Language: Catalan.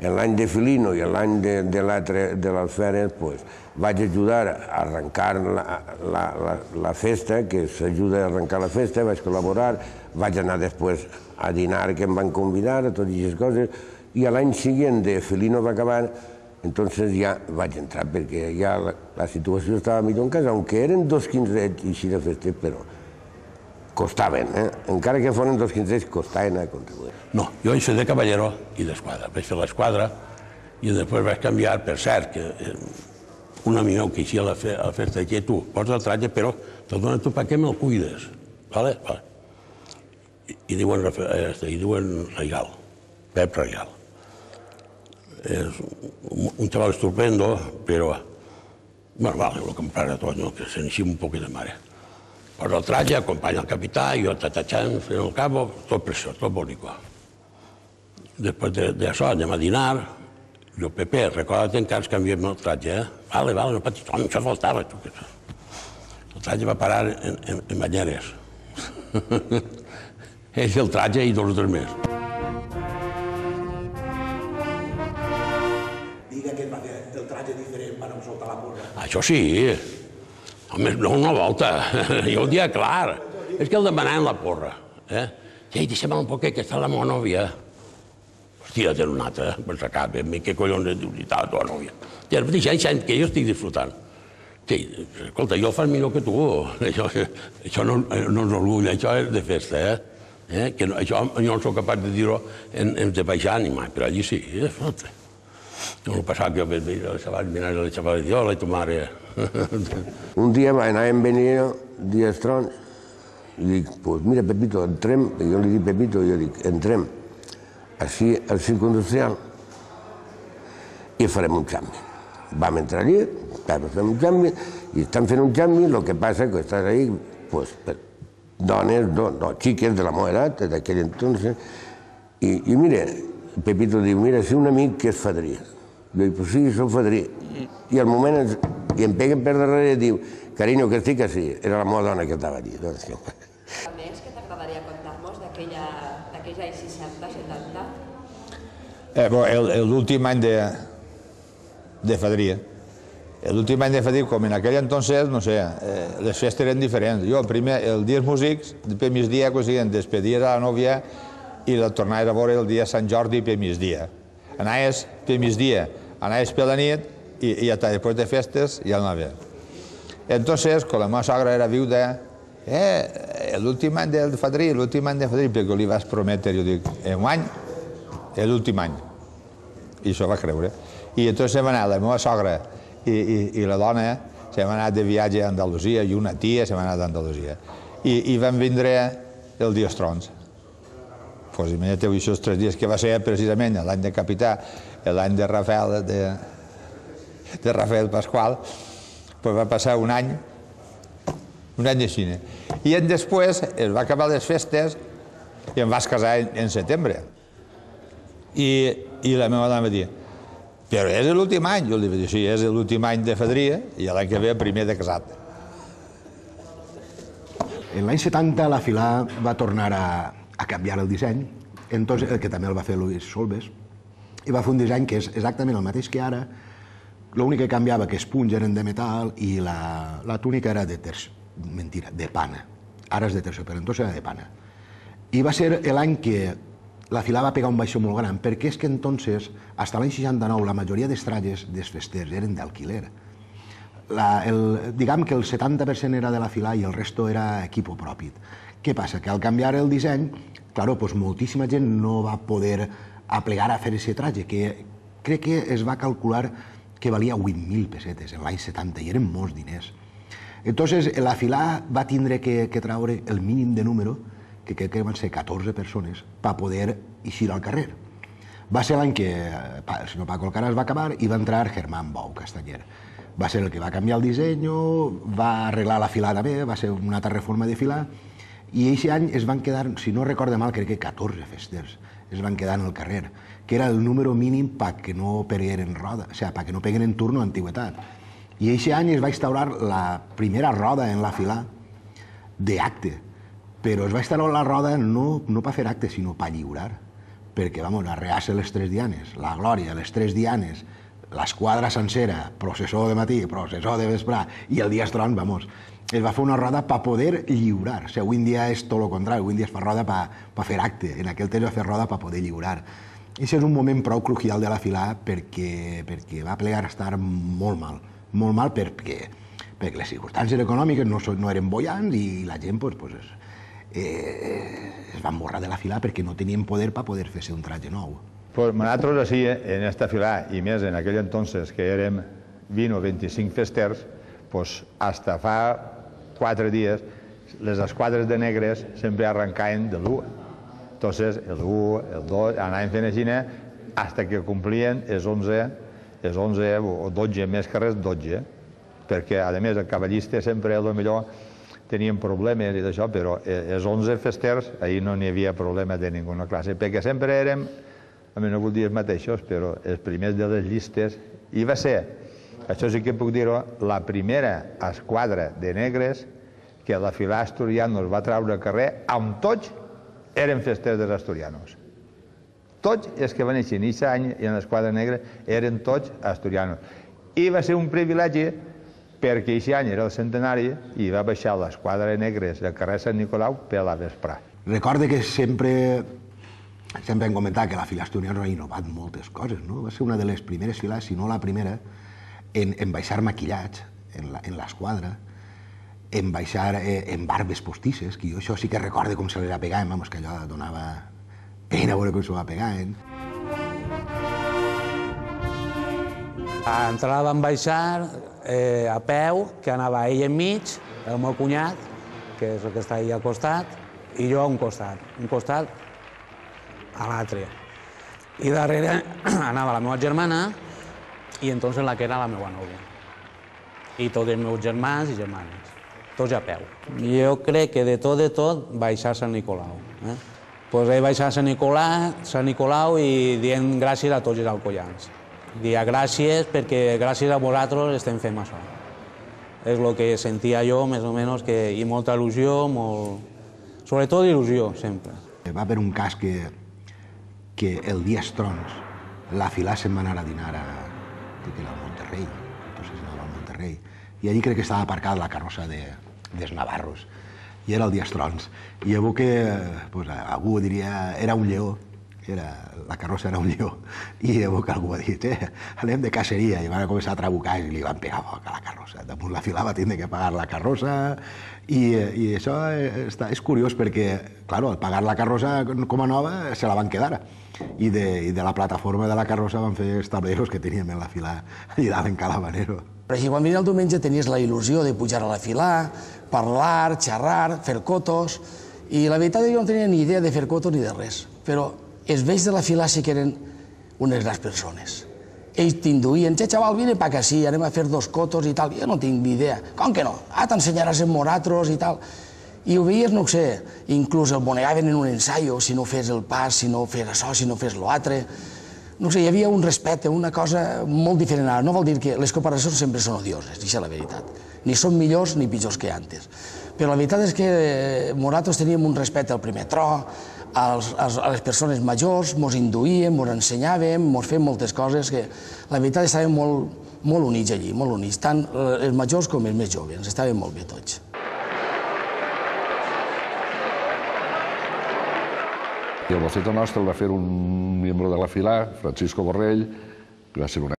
l'any de Filino i l'any de l'Alferes, vaig ajudar a arrencar la festa, que s'ajuda a arrencar la festa, vaig col·laborar, vaig anar després a dinar que em van convidar, a totes aquestes coses, i l'any següent de Filino va acabar, entonces ja vaig entrar, perquè ja la situació estava millor en casa, aunque eren 2 quinzets i així de festes, però costaven, encara que foren 2 quinzets, costaven a contribuir. No, jo vaig fer de cavallero i d'esquadra. Vaig fer l'esquadra i després vaig canviar, per cert, que un amic meu que eixia a la festa que tu posa el tratge, però te'l dones tu perquè me'l cuides. I diuen Regal, Pep Regal. És un xaval estupendo, però, bueno, vale, lo compraré tot, no? Que se n'eixim un poc de mare. Posa el tratge, acompanya el capità, jo tatachant, fent el cabo, tot preciós, tot bonic. Després d'això anem a dinar, jo, Pepe, recorda't encara ens canviem el tratge, Vale, no patis, home, això faltava. El tratge va parar en banyeres. És el tratge i 2 o 3 més. Diga que va fer el tratge diferent per no soltar la porra. Això sí. Home, no una volta. Jo ho dia clar. És que el demanaven la porra. Ei, deixa'm un poquet, que està la meva nòvia. Hòstia, té una altra, per sacar, què collons et dius, està la teva nòvia. Deixa'm que jo estic disfrutant. Escolta, jo el faig millor que tu. Això no és orgull, això és de festa, Això jo no soc capaç de dir-ho en de baix ànima, però allí sí, escolta. No passava que jo veia la xavala i dic, hola, tu mare. Un dia anàvem venint dies trons i dic, pues mira, Pepito, entrem, jo li dic Pepito, jo dic, entrem així al circo industrial i farem un canvi. Vam entrar allí, fem un canvi, i estan fent un canvi, el que passa que estàs ahí, pues, dones, xiques de la meva edat, d'aquell entonces, i mira, Pepito diu, mira, si un amic que és fadrí. Jo dic, pues sí, soc fadrí. I al moment em peguen per darrere i diu, carinyo, que estic així. Era la meva dona que estava allí. A més, què t'agradaria contar-nos d'aquells anys 60, 70? L'últim any de fadria. L'últim any de fadria, com en aquell entonces, no sé, les festes eren diferents. Jo, primer, el dia dels músics, per migdia, despedies a la nòvia i la tornaves a veure el dia de Sant Jordi per migdia. Anaves per migdia, anaves per la nit i després de festes ja anaves. Entonces, quan la meva sogra era viuda, l'últim any de fadrí, perquè li vaig prometre, jo dic, un any, l'últim any. I això va creure. I entonces hem anat la meva sogra i la dona, s'hem anat de viatge a Andalusia i una tia s'hem anat a Andalusia. I vam vindre el dia dels trons. Doncs imagineu aquests 3 dies que va ser precisament l'any de Capità, l'any de Rafael Pasqual, va passar un any de cine. I després es va acabar les festes i em vas casar en setembre. I la meva dona va dir, però és l'últim any? Jo li vaig dir, sí, és l'últim any de fadria i l'any que ve primer de casat. En l'any 70 la Filà va tornar a canviar el disseny, que també el va fer Luis Solves, i va fer un disseny que és exactament el mateix que ara, l'únic que canviava que els punys eren de metal i la túnica era de pana. Ara és de terciopelo, entonces era de pana. I va ser l'any que la Filà va pegar un baixó molt gran, perquè és que entonces, fins l'any 69, la majoria dels trajes dels festers eren d'alquiler. Diguem que el 70% era de la Filà i el resto era equipo propi. Què passa? Que al canviar el disseny, moltíssima gent no va poder aplegar a fer aquest traje, que crec que es va calcular que valia 8.000 pessetes en l'any 70, i eren molts diners. Entonces, la Filà va tindre que treure el mínim de número, que crec que van ser 14 persones, per poder eixir al carrer. Va ser l'any que el senyor Paco Alcaraz va acabar i va entrar Germán Bou Castanyer. Va ser el que va canviar el disseny, va arreglar la Filà també, va ser una altra reforma de Filà, i aquest any es van quedar, si no recordo mal, crec que 14 festers es van quedar en el carrer, que era el número mínim perquè no pegueren roda, o sigui, perquè no peguen en turno d'antiguitat. I aquest any es va instaurar la primera roda en la Filà d'acte, però es va instaurar la roda no per fer acte, sinó per lliurar, perquè, vamos, la reassa les 3 dianes, la glòria, les 3 dianes, l'esquadra sencera, processó de matí, processó de vesprà, i el dia estron, vamos, es va fer una roda per poder lliurar. O sigui, avui en dia és tot el contrari, avui en dia es fa roda per fer acte, en aquell temps va fer roda per poder lliurar. I això és un moment prou crucial de la filà perquè va plegar a estar molt mal perquè les circumstàncies econòmiques no eren bollants i la gent es va emborrar de la filà perquè no tenien poder per poder fer-se un tratge nou. Pues nosaltres així, en esta filà, i més en aquell entonces que érem 20 o 25 festers, pues hasta fa 4 dies les esquadres de negres sempre arrencaven de l'1. Entonces, el 1, el 2, anaven fent així, hasta que complien els 11 o 12, més que res 12, perquè, a més, el cavallista sempre, potser, tenien problemes i d'això, però els 11 festers, ahir no n'hi havia problema de ninguna classe, perquè sempre érem, no vull dir els mateixos, però els primers de les llistes, i va ser, això sí que puc dir-ho, la primera esquadra de negres que la filà Asturianos va treure al carrer, amb tots eren festers dels asturianos. Tots els que van néixer en aquest any i en l'esquadra negra eren tots asturianos. I va ser un privilegi perquè aquest any era el centenari i va baixar l'esquadra de negres del carrer Sant Nicolau per la vesprà. Recorde que sempre hem comentat que la filà Asturianos ha innovat moltes coses, no? Va ser una de les primeres filàs, si no la primera, en baixar maquillats en l'esquadra, en baixar en barbes postisses, que jo això sí que recorde com se li pegaven, vamos, que allò donava pena veure com s'ho va pegant. A l'entrada vam baixar a peu, que anava ell enmig, el meu cunyat, que és el que està allà al costat, i jo a un costat a l'altre. I darrere anava la meva germana i entonces la que era la meva nòvia. I tots els meus germans i germanes, tots a peu. Jo crec que de tot baixar a Sant Nicolau. Doncs he baixat a Sant Nicolau i dient gràcies a tots els alcoians. Dir gràcies perquè gràcies a vosaltres estem fent això. És el que sentia jo, més o menys, i molta il·lusió, sobretot il·lusió, sempre. Va haver un cas que el dia Estrons la filà se'n va anar a dinar a Monterrey, entonces anava a Monterrey, i allí crec que estava aparcada la carrossa dels navarros, i era el dia Estrons. I llavors que algú diria, era un lleó, la carrossa era un lleó, i llavors que algú va dir, anem de caceria, i van començar a trabucar i li van pegar foc a la carrossa. Damunt la filà va tindre que pagar la carrossa, i això és curiós perquè, clar, al pagar la carrossa com a nova se la van quedar, i de la plataforma de la carrossa van fer estableros que teníem en la filà allà en Calabanero. Però si quan venia el diumenge tenies la il·lusió de pujar a la filà, parlar, xerrar, fer cotos, i la veritat és que jo no tenia ni idea de fer cotos ni de res, però els vells de la filà sí que eren unes grans persones. Ells t'induïen, xaval, vine pa que sí, anem a fer 2 cotos i tal. Jo no tinc ni idea. Com que no? T'ensenyaràs en moratros i tal. I ho veies, no ho sé, inclús el bonegaven en un ensaio, si no fes el pas, si no fes això, si no fes l'altre. No sé, hi havia un respecte, una cosa molt diferent ara. No vol dir que les comparacions sempre són odioses, això és la veritat. Ni són millors ni pitjors que antes. Però la veritat és que nosaltres teníem un respecte al primer tro, a les persones majors, mos induïem, mos ensenyàvem, mos fèiem moltes coses que la veritat estàvem molt units allí, molt units, tant els majors com els més joves, estàvem molt bé tots. I el boceto nostre el va fer un membre de la filà, Francisco Borrell, que va ser una